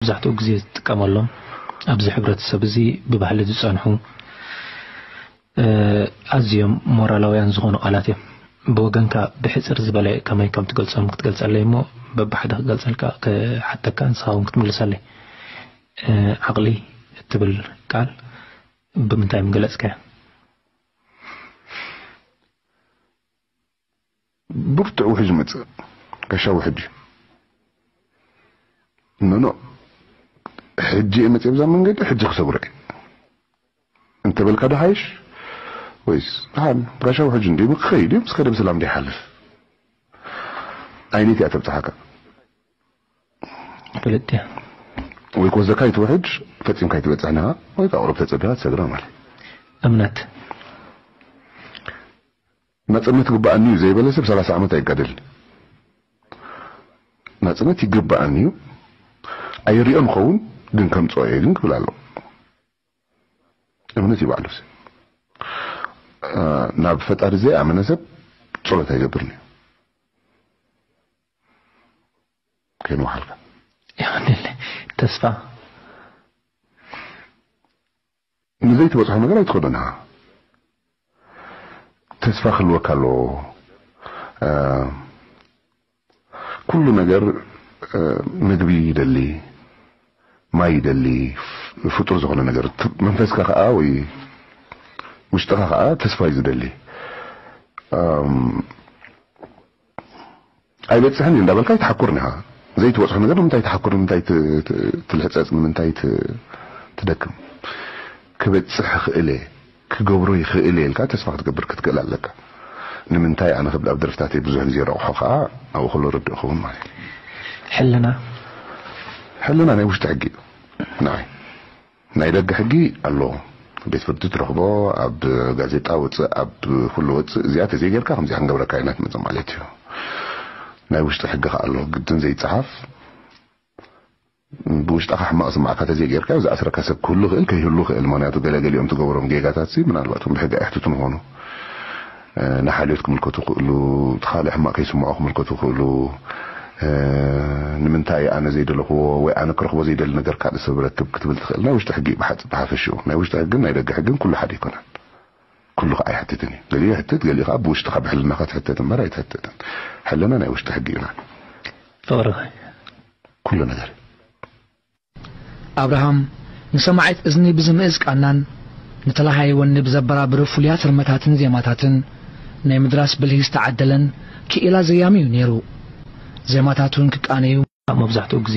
መብዛሕትኡ ግዜ ዝጥቀመሎም ኣብዚ ሕብረተሰብ እዚ ብባህሊ ዝጸንሑ፣ እ፣ ኣዝዮም ሞራላውያን ዝኾኑ ቃላት እዮም። ብወገንካ ብሕጽር ዝበለ ከመይ ከም ትገልጾም ክትገልጸለይ እሞ፣ በብሓደ ክገልጸልካ ክሓተካ፣ ንስኻ እውን ክትምልሰለይ። እ፣ ዓቕሊ እትብል ቃል ብምንታይ ምገለጽካያ? ብርቱዕ ውሕጅ መጽእ፣ ጋሻ ውሕጅ እዩ። ኖኖ፣ ሕጂ እየ መጽእ ብዛ መንገዲ፣ ሕጂ ክሰግሮ እየ እንተበልካ ዶ ሓይሽ? ወይስ ደሓን ጋሻ ውሕጅ እንዲ ክኸይድ እዩ፣ ምስ ከደ ብሰላም ዶ ይሓልፍ? ኣይነይቲ እያ ተብጽሓካ? ክልጥያ ወይ ክወስደካ ይትውሕጅ፣ ፈጺምካ ይትበጽሕ ንኻ፣ ወይ ከዓ ቁሩብ ተጸቢኻ ትሰግራ ማለት። እምነት ናጽነት ግባኣኒ እዩ ዘይበለ ሰብ ሰላሳ ዓመት ኣይጋደልን። ናጽነት ይግባኣኒ እዩ፣ ኣይሪኦን ኸውን፣ ግን ከምጽኦ እየ ግን ክብል ኣለዎ። እምነት ይባዕሉ ናብ ፈጣሪ ዘይኣመነ ሰብ ጸሎት ኣይገብርን እዩ። ከይንውሓልካ ይኸንል ተስፋ ንዘይትበጽሖ ነገር ኣይትኸዶን ኢኻ። ተስፋ ክህልወካ ኣለዎ። እ፣ ኩሉ ነገር፣ እ፣ ምግቢ ይደሊ፣ ማይ ይደሊ፣ ፍ-፣ ፍጡር ዝኾነ ነገር። ት-፣ መንፈስካ ከኣ ወይ ውሽጥኻ ከኣ ተስፋ እዩ ዝደሊ። እም፣ ኣይበጽሕን እዩ እንዳበልካ ኣይትሓኩርን ኢኻ። ዘይትበጽሖ ነገር ንምንታይ ትሓኩር? ንምንታይ ት-፣ ት-፣ ትልሕጸጽ? ንምንታይ ት-፣ ትደክም? ክበጽሕ ይኽእል እየ፣ ክገብሮ ይኽእል እየ ኢልካ ተስፋ ክትገብር ክትክእል ኣለካ። ንምንታይ ኣነ ክብል ኣብ ደርፍታተይ ብዙሕ ግዜ ረቑሖ ከኣ ኣብኡ ከሎ ርድእ ክኸውን ማለት እዩ። ሕልና ሕልና ናይ ውሽጢ ሕጊ እዩ። ንዓይ ናይ ደገ ሕጊ ኣሎ። ቤት ፍርዲ ትረኽቦ፣ ኣብ ጋዜጣ ወፅእ፣ ኣብ ኩሉ ወፅእ፣ እዚኣ ተዘይጌርካ ከምዚኣ ክንገብረካ ኢና ትመፅእ ማለት እዩ። ናይ ውሽጢ ሕጊ ከኣ ኣሎ፣ ግድን ዘይፀሓፍ። ብውሽጥኻ ሕማቕ ስማዕካ ተዘይጌርካዮ ዝኣስረካ ሰብ ክህሉ ይኽእል፣ ከይህሉ ይኽእል። ምኽንያቱ ገለ ገሊኦም ትገብሮም ጌጋታት ሲ ምናልባት እውን ብሕጊ ኣይሕትቱን ይኾኑ። እ፣ ንሓልዮት ክምልከቱ ይኽእሉ፣ እቲ ካልእ ሕማቕ ከይስምዖ ክምልከቱ ይኽእሉ። እ፣ ንምንታይ ኣነ ዘይደለኽዎ ወይ ኣነ ክረኽቦ ዘይደሊ ነገር ካልእ ሰብ ረክብ ክትብል ትኽእል። ናይ ውሽጢ ሕጊ ብሓጽ-፣ ብሓፈሽኡ ናይ ውሽጢ ሕግን ናይ ደገ ሕግን ኩሉ ሓደ ኣይኮነን። ኩሉ ከኣ ኣይሕትትን እዩ። ገሊኡ ይሕትት፣ ገሊኡ ከኣ ብውሽጥኻ ብሕልናኻ ትሕተት እምበር ኣይትሕተትን። ሕልና ናይ ውሽጢ ሕጊ እዩና። ፍቕሪ ኩሉ ነገር እዩ። ኣብርሃም ንሰማዒት እዝኒ ብዝምእዝ ቃናን ንተላሃይ ወኒ ብዘበራብሩ ፍሉያት ርመታትን ዜማታትን ናይ ምድራስ ብልሂ ዝተዓደለን ክኢላ ዘያሚ እዩ ነይሩ። ዜማታቱን ክቃነዩ ኣብ መብዛሕትኡ ግዜ